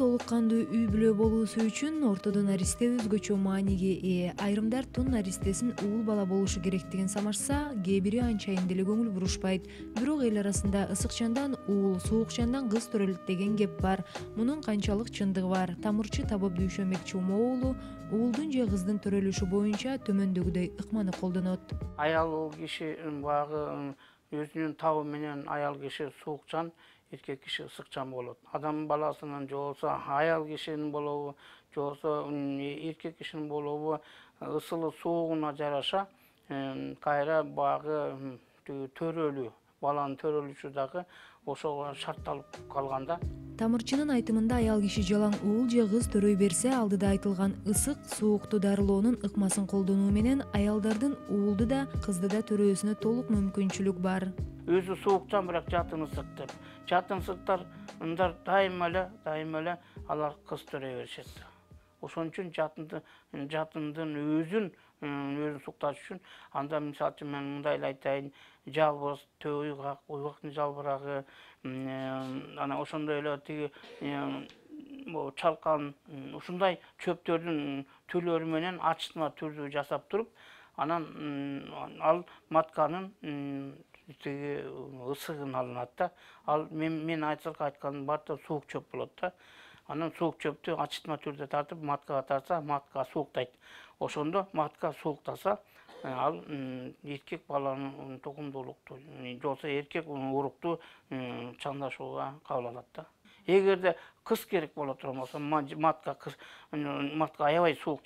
толук кандуу үй бүлө болуусу үчүн ортодон наристе өзгөчө мааниге ээ. Айрымдар тун наристесин уул бала болушу керектигин самашса, кээ бири анчайын деле көңүл бурушпайт. Бирок эл арасында ысыкчандан уул, суукчандан кыз төрөлөт деген кеп бар. Мунун канчалык чындыгы бар? Тамырчы Табып Дүйшөмек Чомо уулу уулдун же кыздын төрөлүшү боюнча төмөндөгүдөй ыкманы колдонот. Аял киши багы өзүнүн табы менен аял киши суукчан, эркек киши ысыкчан болот. Адам баласынын же болбосо аял кишинин болобу, же болбосо эркек кишинин болобу ысылы суугуна жараша кайра багы төрөлүү, баланын төрөлүшү дагы ошого шартталып калганда. Тамырчынын айтымында аял киши жалаң уул же кыз төрөй берсе, алдыда айтылган ысык, суукту дарылоонун ыкмасын колдонуу менен аялдардын уулду да, кызды да төрөөсүнө толук мүмкүнчүлүк бар. Өзү суукчан, бирок жатын ысык деп. Жатын ысыктар дайыма эле алар кыз төрөй беришет. Ошон үчүн жатындын өзүн сукташ үчүн анда мисалы үчүн мен мындай эле айтайын, жалбыз, уйгак, уйгактын жалбырагы, анан ошондой эле тиги чалкан, ушундай чөптөрдүн түрлөрү менен ачытма түрдүү жасап туруп, анан ал матканын тиги ысыгын алынат да. Ал мен айтканым барда суук чөп болот да. Анан суук чөптү ачытма түрдө тартып маткага тартса, матка сууктайт. Ошондо матка сууктаса, ал эркек баланын тукумдуулукту, же болбосо эркек урукту чаңдашууга кабыл алат да. Эгерде кыз керек боло турган болсо, матка аябай суук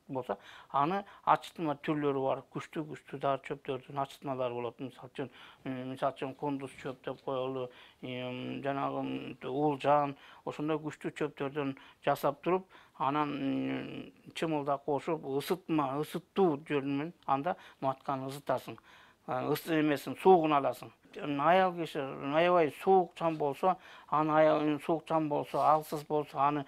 болсо, аны ачытма түрлөрү бар. Күчтүү дары чөптөрдүн ачытмалары болот. Мисалы үчүн кондус чөп деп коелу, жанагы уулжан, ошондой күчтүү чөптөрдөн жасап туруп, анан чымылдак кошуп, ысыттуу жолу менен анда матканы ысытасың. Суугун аласың. Аял киши аябай суукчан болсо, алсыз болсо, аны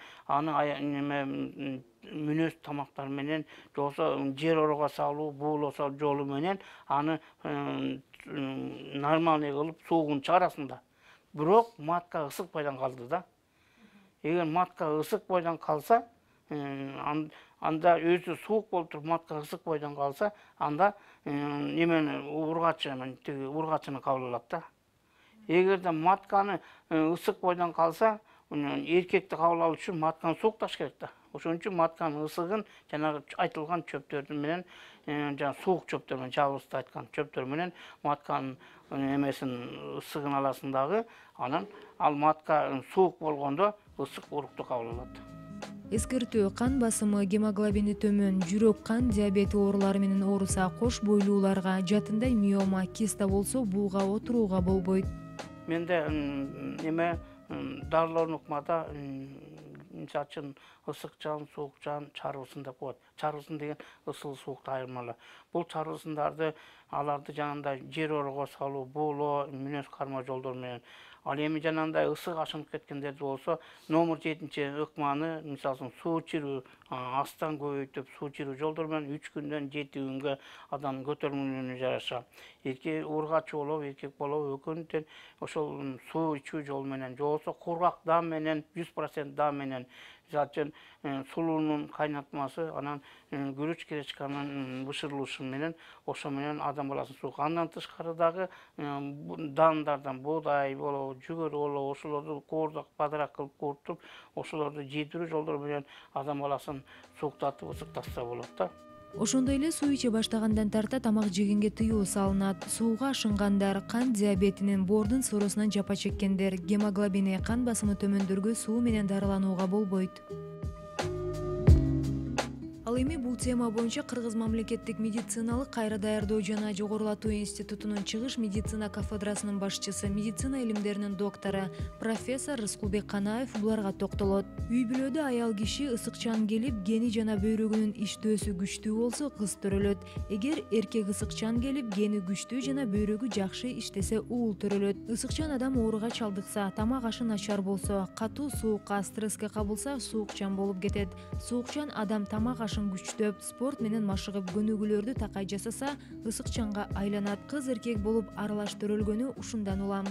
мүнөз тамактар менен, же болбосо жер орого салуу, буулоо жолу менен аны нормальный кылып суугун чыгарасың да. Бирок матка ысык бойдон калды да. Эгер матка ысык бойдон калса, анда өзү суук болуп туруп матка ысык бойдон калса, анда ургачыны кабыл алат да. Эгерде матканы ысык бойдон калса, эркекти кабыл алуу үчүн матканы суукташ керек да. Ошон үчүн матканын ысыгын жанагы айтылган чөптөрдү менен, жана суук чөптөр менен, жалбызды айткан чөптөр менен матканын ысыгын аласың дагы, анан ал матка суук болгондо ысык урукту кабыл алат. Эскертүү: кан басымы, гемоглобини төмөн, жүрөк, кан диабети оорулары менен ооруса, кош бойлууларга, жатындай миома, киста болсо бууга отурууга болбойт. Менде дарылоонун ыкмада мисалы үчүн ысыкчан, суукчан, чарбысын деп коет. Чарбысын деген ысыл суукту айырмалоо. Бул чарбысындарды аларды жанагындай жер орого салуу, буулоо, мүнөз карма жолдор менен. Ал эми жанагындай ысык ашынып кеткендерди болсо, номер 7-чи ыкманы, мисалы суу чирүү, астан көбөйтүп, суу чирүү жолдор менен 3 күндөн 7 күнгө адамдын көтөрүлүүнү жараша. Ургач болобу, эркек болобу, экөөнүн ошол суу ичүү жолу менен, же болбосо кургак дам менен, 100% дам менен, мисалы үчүн сулуунун кайнатмасы, анан күрүч гречканын бышырылышы менен, ошо менен адам баласын суук. Андан тышкары дагы дандардан буудай болобу, жүгөрү болобу, ошолорду коордак, падырак кылып кууртуп, ошолорду жедирүү жолдору менен адам баласын сууктатып, ысыктатса болот да. Ошондой эле суу иче баштагандан тарта тамак жегенге тыюу салынат. Сууга ашынгандар, кан диабетинин, боордун соорусунан жапа чеккендер, гемоглобини, кан басымы төмөндөргө суу менен дарыланууга болбойт. Ал эми бул тема боюнча Кыргыз мамлекеттик медициналык кайра даярдоо жана жогорулатуу институтунун чыгыш медицина кафедрасынын башчысы, медицина илимдеринин доктору, профессор Рыскулбек Канаев буларга токтолот. Үй бүлөдө аял киши ысыкчан келип, гени жана бөйрөгүнүн иштөөсү күчтүү болсо, кыз төрөлөт. Эгер эркек ысыкчан келип, гени күчтүү жана бөйрөгү жакшы иштесе, уул төрөлөт. Ысыкчан адам ооруга чалдыкса, тамак ашы начар болсо, катуу суукка, стресске кабылса, суукчан болуп кетет. Суукчан адам тамак күчтөп, спорт менен машыгып, көнүгүүлөрдү такай жасаса, ысыкчанга айланат. Кыз эркек болуп аралаш төрөлгөнү ушундан улам.